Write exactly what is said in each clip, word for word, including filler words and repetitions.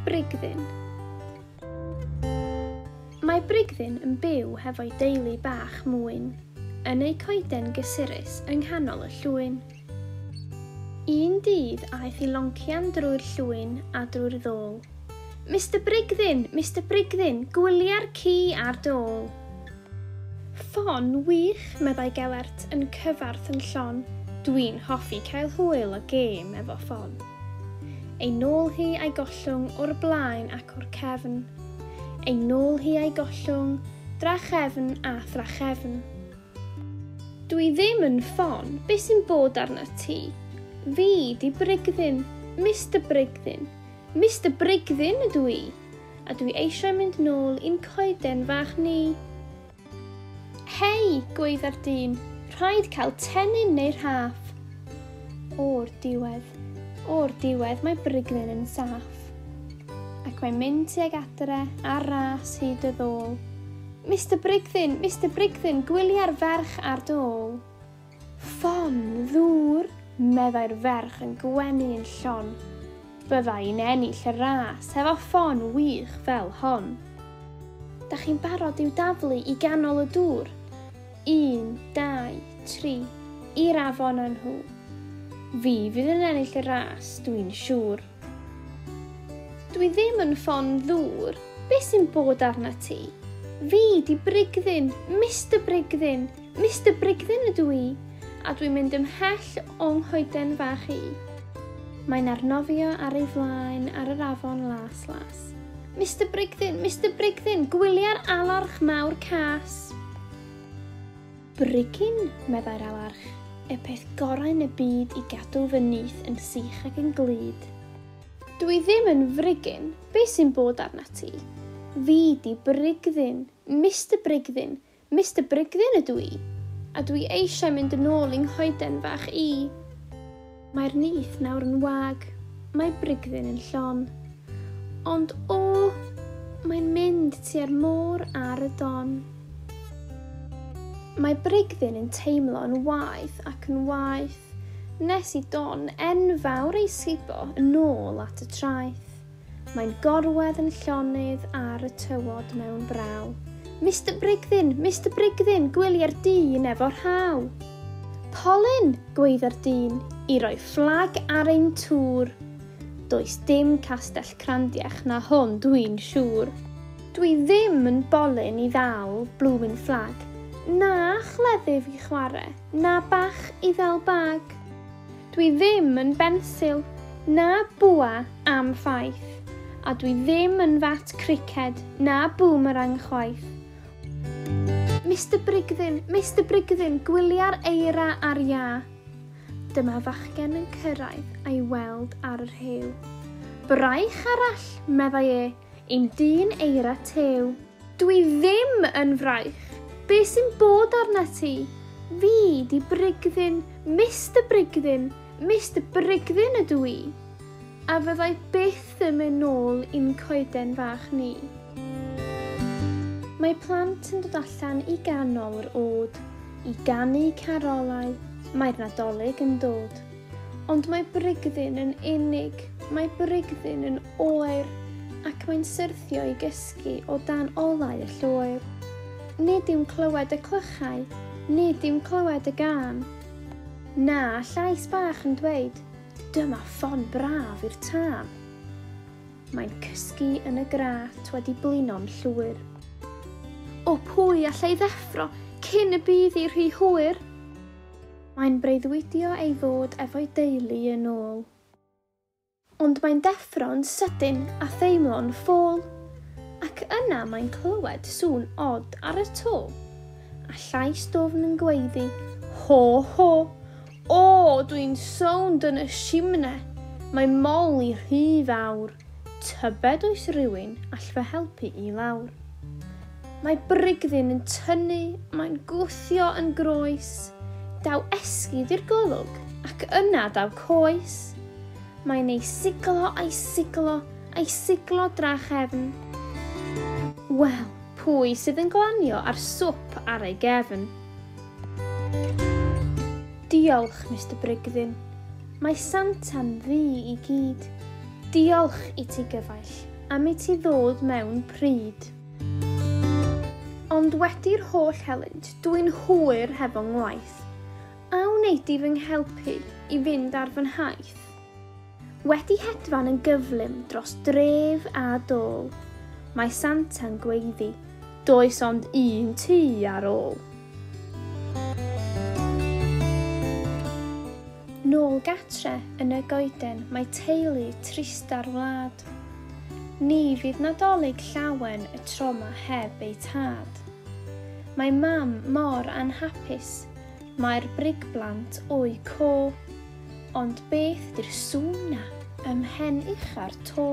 Brigddyn. Mae Brigddyn yn byw hefo'i deulu bach mwyn, yn ei coeden gysurus yng nghanol y llwyn. Un dydd aeth i loncian drwy'r llwyn a drwy'r ddôl. Mister Brigddyn, Mister Brigddyn, gwylia'r ci ar dôl. Ffon wych, meddai Gelert yn cyfarth yn llon. Dwi'n hoffi cael hwyl a gêm efo ffon. Ei nôl hi a'i gollwng o'r blaen ac o'r cefn. Ei nôl hi a'i gollwng, drachefn a thrachefn. Dwi ddim yn ffon, beth sy'n bod arna ti? Fi di Brigddyn, Mister Brigddyn, Mister Brigddyn ydw i, a dwi eisiau mynd nôl i'n coeden fach ni. Hei, gweidda'r dyn, rhaid cael tennyn neu rhaff. O'r diwedd, o'r diwedd mae Brigddyn yn saff. Ac mae'n mynd tuag adre ar ras hyd y ddôl. Mister Brigddyn, Mister Brigddyn, gwylia'r ferch ar dôl. Ffon ddŵr, meddai'r ferch yn gwenu yn llon. Bydda i'n ennill y ras hefo ffon wych fel hon. Da chi'n barod i'w daflu i ganol y dŵr? Un, dau, tri, i'r afon â nhw. Fi fydd yn ennill y ras, dwi'n siŵr. Dwi ddim yn ffon ddŵr, beth sy'n bod arna ti? Fi di Brigddyn, Mister Brigddyn, Mister Brigddyn ydw i, a dwi'n mynd ymhell o'n nghoeden fach i. Mae'n arnofio ar ei flaen ar yr afon las las. Mister Brigddyn, Mister Brigddyn, gwylia'r alarch mawr cas. Brigyn, meddai'r alarch, y peth gorau yn y byd i gadw fy nyth yn sych ac yn glud. Dwi ddim yn frigyn, beth sy'n bod arna ti? Fi di Brigddyn, Mister Brigddyn, Mister Brigddyn ydw i, a dwi eisiau mynd yn ôl i'n nghoeden fach i. Mae'r nyth nawr yn wag, mae Brigddyn yn llon. Ond o, mae'n mynd tua'r môr ar y don. Mae Brigddyn yn teimlo'n waeth ac yn waeth, nes i don enfawr ei sgubo yn ôl at y traeth. Mae'n gorwedd yn llonydd ar y tywod mewn braw. Mister Brigddyn, Mister Brigddyn, gwylia'r dyn efo'r rhaw. Polyn, gweidda'r dyn, i roi fflag ar ein tŵr. Does dim castell crandiach na hwn, dwi'n siŵr. Dwi ddim yn bolyn i ddal blwmin fflag. Na chleddyf i chwarae, na bach i ddal bag. Dwi ddim yn bensil, na bwa am ffaith, a dwi ddim yn fat criced, na boomerang chwaith. Mister Brigddyn, Mister Brigddyn, gwylia'r eira ar iâ. Dyma fachgen yn cyrraedd a'i weld ar yr hewl. Braich arall, meddai e, i'm dyn eira tew. Dwi ddim yn fraich. Be sy'n bod arna ti? Fi di Brigddyn, Mister Brigddyn, Mister Brigddyn ydw i. A fyddai byth yn mynd nôl i'n coeden fach ni. Mae plant yn dod allan i ganol yr ôd, i ganu carolau, mae'r Nadolig yn dod. Ond mae Brigddyn yn unig, mae Brigddyn yn oer, ac mae'n syrthio i gysgu o dan olau y lloer. Nid yw'n clywed y clychau, nid yw'n clywed y gân. Na, llais bach yn dweud, dyma ffon braf i'r tân. Mae'n cysgu yn y grat wedi blino'n llwyr. O pwy allai ddeffro cyn y bydd i rhy hwyr? Mae'n breuddwydio ei fod efo'i deulu yn ôl. Ond mae'n deffro'n sydyn a theimlo'n ffôl. Ac yna mae'n clywed sŵn od ar y to, a llais dofn yn gweiddi, ho ho, o, dwi'n sownd yn y simne, mae mol i rhy fawr, tybed oes rhywun all fy helpu i lawr. Mae Brigddyn yn tynnu, mae'n gwthio yn groes, daw esgid i'r golwg, ac yna daw coes. Mae'n ei siglo a'i siglo, a'i siglo drachefn. Wel, pwy sydd yn glanio ar swp ar ei gefn? Diolch, Mister Brigddyn. Mae Santa'n ddu i gyd. Diolch i ti gyfaill. am i ti ddod mewn pryd. Ond wedi'r holl helynt, dwi'n hwyr hefo ngwaith. A wnei di fy nghelpu i fynd ar fy nhaith? Wedi hedfan yn gyflym dros dref a dôl, mae Santa'n gweiddi, does ond un tŷ ar ôl. Nôl gatre yn y goeden mae teulu trista'r wlad. Ni fydd Nadolig llawen y tro 'ma heb ei tad. Mae mam mor anhapus, mae'r brigblant o'u co. Ond beth 'di'r sŵn 'na ym mhen ucha'r to?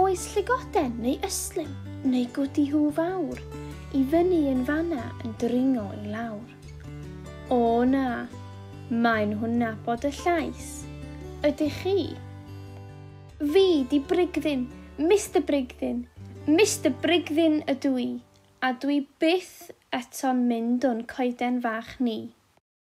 Oes llygoden neu ystlum neu gwdihŵ fawr i fyny yn fanna yn dringo i lawr? O na, maen nhw'n nabod y llais. Ydych chi? Fi 'di Brigddyn, Mister Brigddyn, Mister Brigddyn ydw i, a dwi byth eto'n mynd o'n coeden fach ni.